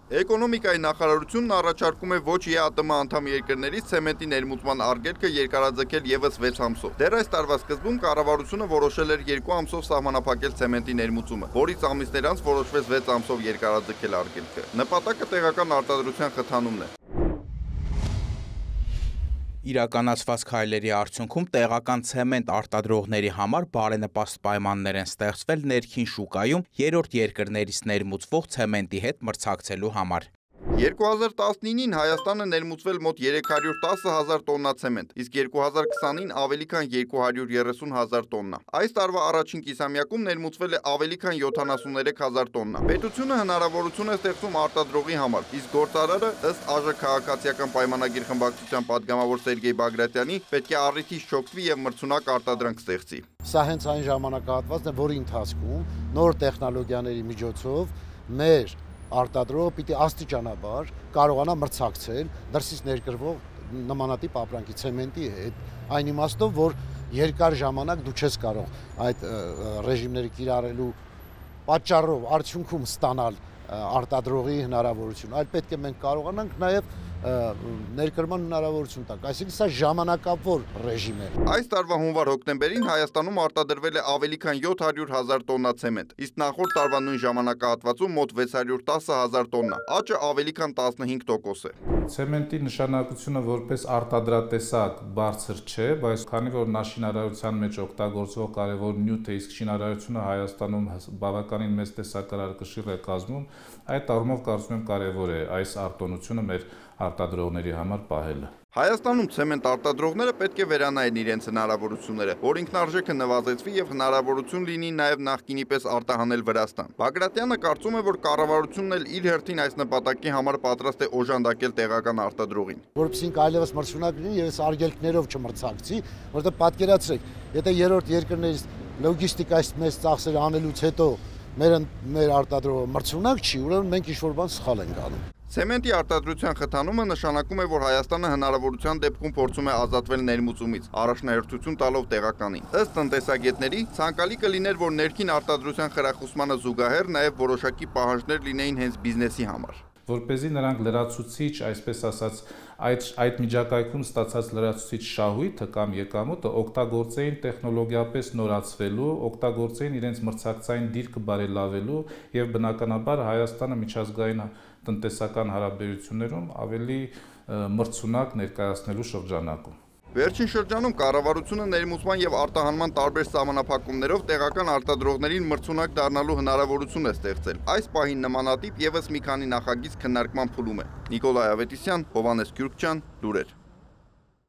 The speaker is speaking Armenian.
Էկոնոմիկայի նախարարությունն առաջարկում է ոչ ԵԱՏՄ անդամ երկրներից ցեմենտի ներմուծման արգելքը երկարաձգել ևս 6 ամսով։ Դեռ այս տարվա սկզբում կառավարությունը որոշել էր 2 ամսով սահմանափակել ցեմենտի ներմուծումը, որից ամիսներ անց որոշվեց 6 ամսով երկարաձգել արգելքը։ Նպատակը տեղական արտադրության խթանումն է։ Իրականացված քայլերի արդյունքում տեղական ցեմենտ արտադրողների համար բարենպաստ պայմաններ են ստեղծվել ներքին շուկայում երրորդ երկրներից ներմուծվող ցեմենտի հետ մրցակցելու համար։ 2019-ին Հայաստանը ներմուծվել մոտ 310,000 տոննա ցեմենտ, իսկ 2020-ին ավելի քան 230,000 տոննա։ Այս տարվա առաջին կիսամյակում ներմուծվել է ավելի քան 73,000 տոննա։ Պետությունը հնարավորություն է ստեղծում արտադրողի համար, իսկ գործարարը, ըստ ԱԺ քաղաքացիական պայմանագիր խմբակցության падգամավոր Սերգեյ Բագրատյանի, պետք է առիթից չօգտվի եւ մրցունակ արտադրանք ստեղծի։ Սա հենց այն ժամանակահատվածն է, որի ընթացքում նոր տեխնոլոգիաների միջոցով մեր արտադրողը պիտի աստիճանաբար կարողանա մրցակցել դրսից ներկրվող նմանատիպ ապրանքի ցեմենտի հետ, այն իմաստով, որ երկար ժամանակ դու չես կարող այդ ռեժիմները կիրառելու պատճառով արդյունքում ստանալ արտադրողի հնարավորություն, այլ պետք է մենք կարողանանք նաև ներկրման հնարավորություն տանք, այսինքն սա ժամանակավոր ռեժիմ է։ Այս տարվա հունվար-հոկտեմբերին Հայաստանում արտադրվել է ավելի քան 700,000 տոննա ցեմենտ, իսկ նախորդ տարվա նույն ժամանակահատվածում մոտ 610,000 տոննա, աճը ավելի քան 15% է։ Ցեմենտի նշանակությունը որպես արտադրատեսակ բարձր չէ, բայց քանի որ նա շինարարության մեջ օգտագործվող կարևոր նյութ է, իսկ շինարարությունը Հայաստանում բավականին մեծ տեսակարար կշիռ է կազմում, այդ առումով կարծում եմ կարևոր է այս արտոնությունը մեր արտադրողների համար պահելը։ Հայաստանում ցեմենտ արտադրողները պետք է վերանայեն իրենց հնարավորությունները, որ ինքնարժեքը նվազեցվի եւ հնարավորություն լինի նաեւ նախկինի պես արտահանել Վրաստան։ Բագրատյանը կարծում է, որ կառավարությունն էլ իր հերթին այս նպատակի համար պատրաստ է օժանդակել տեղական արտադրողին։ Որովհետեւ այլևս մրցունակ լինի եւ այս արգելքներով չմրցակցի, որովհետեւ պատկերացրեք, եթե երրորդ երկրներից լոգիստիկայից մեծ ծախսեր անելուց հետո մեր արտադրողը մրցունակ չի, ուրեմն մենք ինչ-որ բան սխալ ենք անում։ Ցեմենտի արտադրության խթանումը նշանակում է, որ Հայաստանը հնարավորության դեպքում փորձում է ազատվել ներմուծումից, առաջնահերթություն տալով տեղականին։ Ըստ տնտեսագետների, ցանկալի կլիներ, որ ներքին արտադրության խրախուսմանը զուգահեռ նաև որոշակի պահանջներ լինեին հենց բիզնեսի համար։ Որպեսզի նրանք լրացուցիչ, այսպես ասած, այդ միջակայքում ստացած լրացուցիչ շահույթը կամ եկամուտը օգտագործեին տեխնոլոգիապես նորացվելու, օգտագործեին իրենց մրցակցային դիրքը բարելավելու եւ բնականաբար Հայաստանը միջազգային տնտեսական հարաբերություններում ավելի մրցունակ ներկայացնելու շրջանակում։ Վերջին շրջանում կառավարությունը ներմուծման եւ արտահանման տարբեր սահմանափակումներով տեղական արտադրողներին մրցունակ դառնալու հնարավորություն է ստեղծել։ Այս պահին նմանատիպ եւս մի քանի նախագիծ քննարկման փուլում է։ Նիկոլայ Ավետիսյան, Հովհաննես Գյուրջյան, լուրեր։